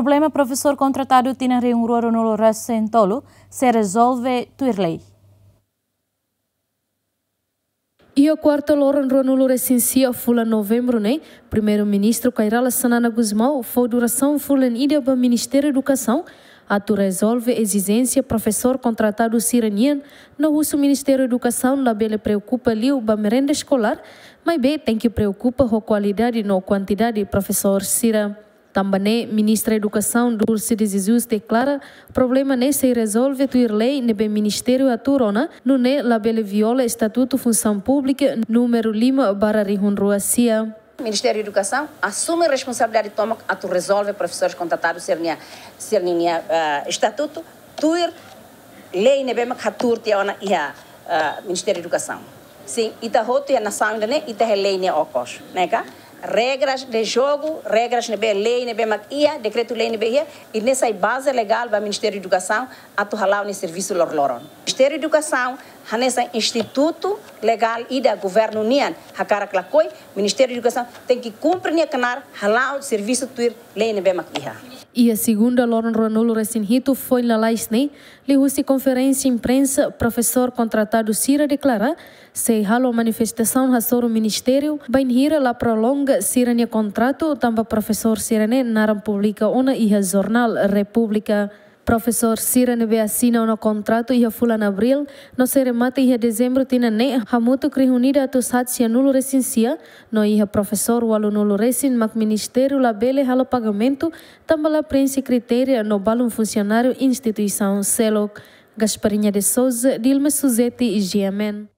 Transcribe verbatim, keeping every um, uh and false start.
Problema profesór kontratadu tinan rihun rua ruanulu resin tolu sei rezolve tuir lei. Iha kuarta loron ruanulu resin sia fulan Novembru ne'e, Primeiru-Ministru Kay Rala Xanana Gusmão fó durasaun fulan ida ba Ministériu Edukasaun atu rezolve ezijénsia profesór kontratadu sira-nian, no husu Ministériu Edukasaun labele preokupa liu ba merenda eskolár, maibé tenke preokupa ho kualidade no kuantidade profesór sira. Tanba ne'e, Ministra Edukasaun Dulce de Jesus deklara problema ne'e sei rezolve tuir lei ne'ebé Ministériu hatuur ona, nune'e labele viola Estatutu Funsaun Públika númeru lima barra rihun rua sia. Ministériu Edukasaun asume responsabilidade tomak atu rezolve profesores kontratadu sira-nia, sira-nia, ah, estatutu, tuir lei ne'ebé mak hatuur tiha ona iha, ah, Ministériu Edukasaun. Sin, ita hotu iha nasaun ida-ne'e, ita iha lei nia okos, ne'e ka? Regras de jogu, regras ne'ebé lei ne'ebé mak iha, dekretu-lei ne'ebé iha, i ne'e sai baze legál ba Ministériu Edukasaun atu hala'o nia servisu loroloron. Ministériu Edukasaun hanesan institutu legál ida governu nian, hakarak lakohi, Ministériu Edukasaun tenke kumpre nia knaar hala'o servisu tuir lei ne'ebé mak iha. Iha segunda loron ruanulu resin hitu foin lalais ne'e, liuhusi konferénsia imprensa, profesór kontratadu sira deklara sei halo manifestasaun hasoru ministériu bainhira la prolonga sira-nia kontratu tanba profesór sira-ne'e naran publika ona iha jornál Repúblika. Profesór sira ne'ebé asina ona kontratu iha fulan Abríl no sei remata iha Dezembru tinan ne'e, hamutuk rihun ida atus haat sianulu resin sia, no iha profesór ualunulu resin mak ministériu labele halo pagamentu tanba la preenxe kritéria no balun funsionáriu instituisaun seluk. Gasparinha de Souza, Dilma Suzeti, G M N.